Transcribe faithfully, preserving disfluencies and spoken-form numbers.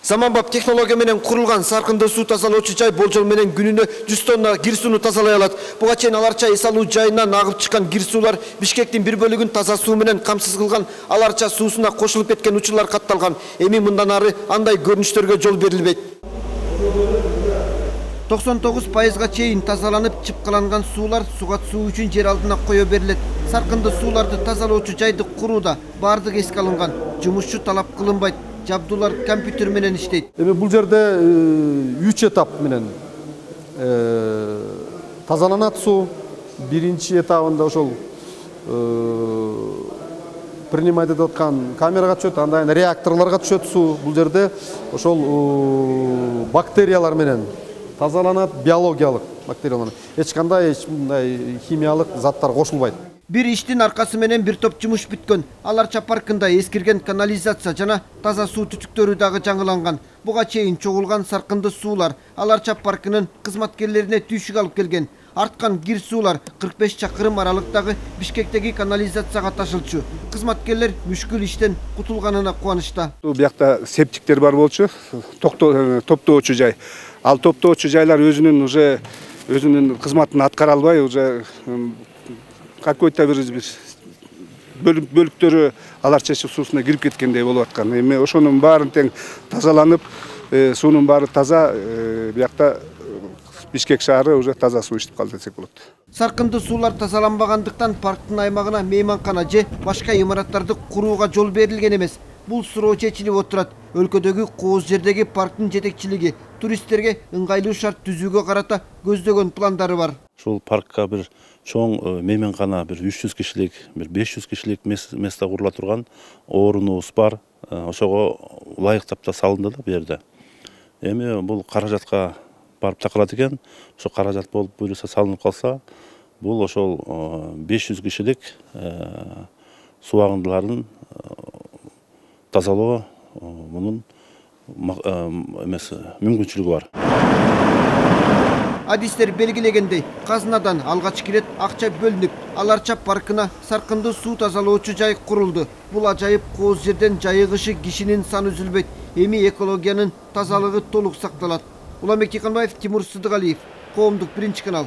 Заманбап технология менен курулган саркынды суу тазалоочу жай болжол менен күнүнө жүз тонна кир сууну тазалай алат. Буга чейин Аларча эс алуу жайынан агып чыккан кир суулар Бишкектин бир бөлүгүн таза суу менен камсыз кылган, Аларча суусуна кошулуп кеткен учурлар катталган. Эми мындан ары андай көрүнүштөргө жол берилбейт. токсон тогуз пайызга чейин тазаланып, чыпкаланган суулар сугат суу үчүн жер алдына кое берилет. Саркынды сууларды тазалоочу жайды курууда бардык эске алынган. Жумушчу талап кылынбайт. Жабдуулар компьютер менен иштейт. Эми бул жерде үч этап менен тазаланат суу. Биринчи этабында ошол принимать этип аткан камерага түшөт, андан кийин реакторлорго түшөт суу. Бул жерде ошол бактериялар менен тазаланат, биологиялык бактериялар. Эч кандай эч мындай химиялык заттар кошулбайт. Бир иштин аркасы менен бир топ жумуш бүткөн. Аларча паркында эскирген канализация жана таза суу түтүктөрү дагы жаңыланган. Буга чейин чогулган саркынды суулар Аларча паркынын кызматкерлерине түйшүк алып келген. Арткан кир суулар кырк беш чакырым аралыктагы Бишкектеги канализацияга ташылчу. Кызматкерлер мүшкүл иштен кутулганына кубанычта. Бул жакта септиктер бар болчу, топтоочу жай. Ал топтоочу жайлар өзүнүн уже өзүнүн кызматын аткара албай, уже какой-то бир бөлүктөрү Аларча суусуна кирип кеткендей болуп аткан. Эми ошонун баарын тең тазаланып, суунун баары таза, биякта Бишкек шаары уже таза суу ичип калды десек болот. Саркынды суулар тазаланбагандыктан парктын аймагына мейманкана же башка имараттарды курууга жол берилген эмес. Бул суроо чечилип отурат. Өлкөдөгү кооз жердеги парктын жетекчилиги туристтерге ыңгайлуу шарт түзүүгө карата көздөгөн пландары бар. Ушул паркка бир чоң мейманкана, бир үч жүз кишилик, бир беш жүз кишилик место курула турган орунубуз бар. Ошого ылайыктап да салынды да бу жерде. Эми бул каражатка барып такалат экен. Ошо каражат болуп буюрса салынып калса, бул ошол беш жүз кишилик суу агындыларын тазалоо мунун эмес мүмкүнчүлүгү бар. Адистер белгилегендей, казынадан алгачкы ирет акча бөлүнүп, Аларча паркына саркынды суу тазалоочу жай курулду. Бул ажайып кооз жерден жайыгышы кишинин саны үзүлбөйт. Эми экологиянын тазалыгы толук сакталат. Уламбек Тиканбаев, Тимур Сыдыгалиев, Коомдук биринчи канал.